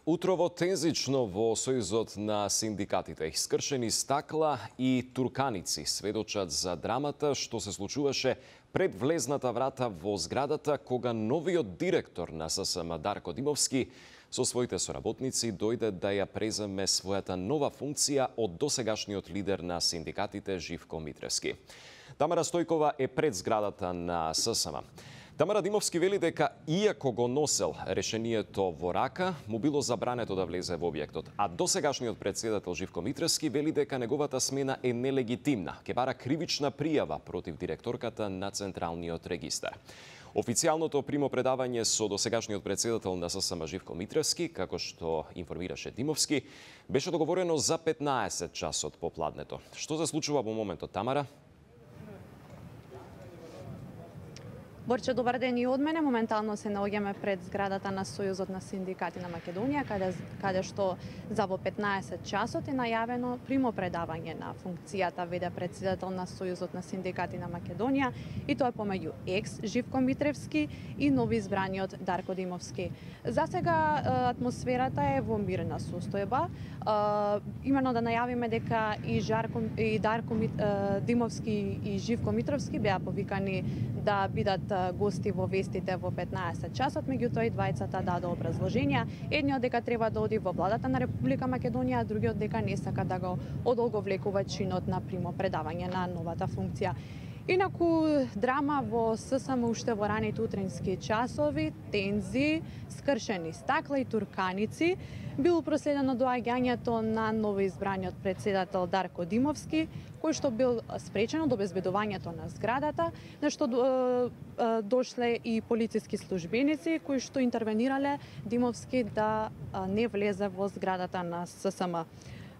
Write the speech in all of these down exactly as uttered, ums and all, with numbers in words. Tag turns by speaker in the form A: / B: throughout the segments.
A: Утрово тензично во Сојузот на синдикатите. Искршени стакла и турканици сведочат за драмата што се случуваше пред влезната врата во зградата кога новиот директор на ССМ Дарко Димовски со своите соработници дојде да ја преземе својата нова функција од досегашниот лидер на синдикатите Живко Митревски. Тамара Стојкова е пред зградата на ССМ. Тамара Димовски вели дека иако го носел решението во рака, му било забрането да влезе во објектот, а досегашниот председател Живко Митревски вели дека неговата смена е нелегитимна, ке бара кривична пријава против директорката на Централниот регистар. Официјалното примопредавање со досегашниот председател на ССМ Живко Митревски, како што информираше Димовски, беше договорено за петнаесет часот попладнето. Што се случува во моментот, Тамара?
B: Борче, добар ден и од мене. Моментално се наоѓаме пред зградата на Сојузот на синдикати на Македонија, каде, каде што за во петнаесет часот е најавено примопредавање на функцијата веде председател на Сојузот на синдикати на Македонија, и тоа е помеѓу екс Живко Митревски и новоизбраниот Дарко Димовски. За сега атмосферата е во мирна состојба. Имено да најавиме дека и Жарко и Дарко Димовски и Живко Митревски беа повикани да бидат гости во вестите во петнаесет часот, меѓутоа и двајцата даде образложенија. Едниот дека треба да оди во владата на Република Македонија, а другиот дека не сака да го одолговлекува чинот на примопредавање на новата функција. Инаку драма во ССМ уште во раните утрински часови, тензи, скршени стакла и турканици, било проследено доаѓањето на новоизбраниот председател Дарко Димовски, кој што бил спречен од обезбедувањето на зградата, на што дошле и полициски службеници кои што интервенирале Димовски да не влезе во зградата на ССМ.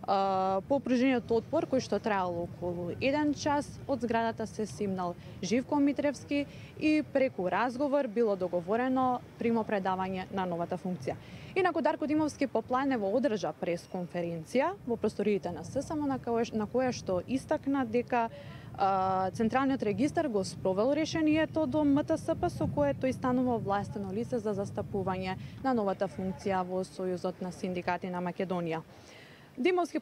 B: По опружениот отпор, кој што траело околу еден час, од зградата се симнал Живко Митревски и преку разговор било договорено примопредавање на новата функција. Инаку Дарко Димовски попланево одржа пресконференција во просториите на ССМ, на која што истакна дека Централниот регистар го спровел решението до МТСП, со кое тој станува овластено лице за застапување на новата функција во Сојузот на синдикати на Македонија. Димовски,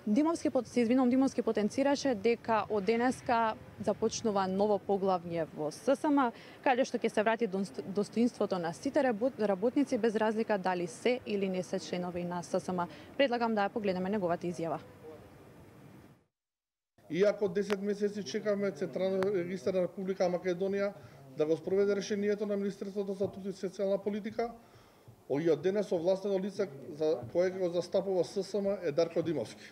B: Димовски, се извинувам, Димовски потенцираше дека од денеска започнува ново поглавје во ССМ, каде што ќе се врати достоинството на сите работници без разлика дали се или не се членови на ССМ. Предлагам да ја погледнеме неговата изјава.
C: Иако десет месеци чекаме Централниот регистар на Република Македонија да го спроведе решението на Министерството за труд и социјална политика, и од денес овластено лице за кое го застапува ССМ е Дарко Димовски.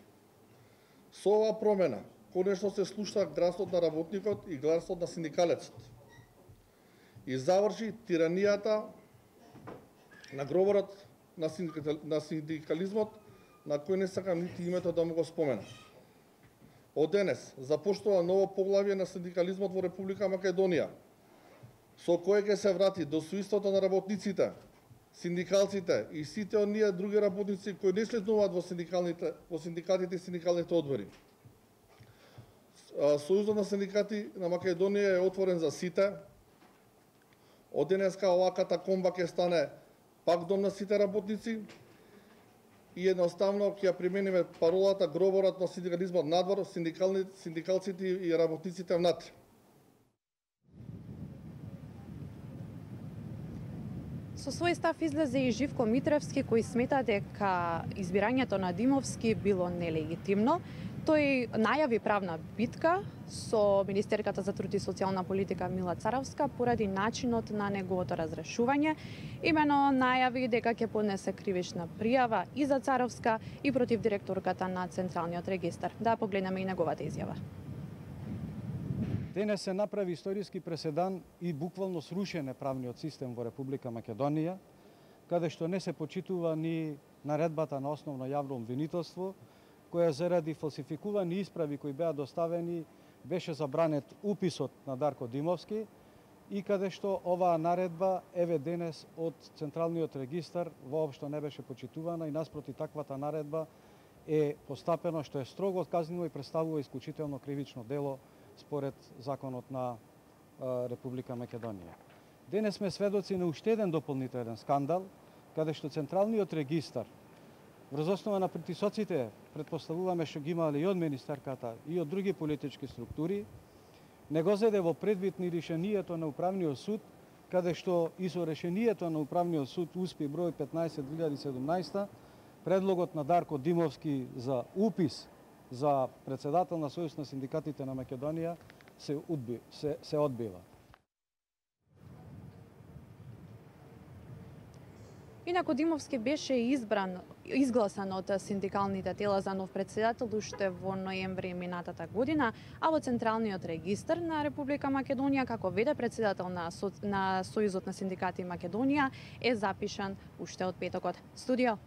C: Со оваа промена, конечно се слуша гласот на работникот и гласот на синдикалецот. И заврши тиранијата на говорот на, синдикал... на синдикализмот, на кој не сакам нити името да му го спомена. Од денес започнува ново поглавје на синдикализмот во Република Македонија, со кое ќе се врати достоинството на работниците, синдикалците и сите оние други работници кои не членуваат во синдикалните во синдикатите и синдикалните одбори. Сојузот на синдикати на Македонија е отворен за сите. Од денеска оваа катакомба ќе стане пак дом на сите работници и едноставно ќе ја примениме паролата гроборот на синдикализмот надвор, синдикалците и работниците внатре.
B: Со свој став излезе и Живко Митревски, кој смета дека избирањето на Димовски било нелегитимно. Тој најави правна битка со Министерката за труд и социјална политика Мила Царовска поради начинот на неговото разрешување. Имено најави дека ќе поднесе кривична пријава и за Царовска и против директорката на Централниот регистар. Да погледнеме и неговата изјава.
D: Денес се направи историски преседан и буквално срушен правниот систем во Република Македонија, каде што не се почитува ни наредбата на основно јавно обвинителство, која заради фалсификувани исправи кои беа доставени беше забранет уписот на Дарко Димовски и каде што оваа наредба еве денес од Централниот регистар воопшто не беше почитувана и наспроти таквата наредба е постапено што е строго казниво и представува исклучително кривично дело според законот на Република Македонија. Денес сме сведоци на уште еден дополнителен скандал, каде што Централниот регистар Врз основа на притисоците, предпоставуваме што ги имале и од министерката и од други политички структури, не го зеде во предвид ни решението на Управниот суд, каде што и со решението на Управниот суд успи број петнаесет две илјади и седумнаесета, предлогот на Дарко Димовски за упис за председател на Сојуз на синдикатите на Македонија се, одби, се, се одбива.
B: Инаку Димовски беше избран, изгласан од синдикалните тела за нов председател уште во ноември минатата година, а во Централниот регистар на Република Македонија како веде председател на, Со... на Сојузот на синдикати Македонија е запишан уште од петокот. Студио.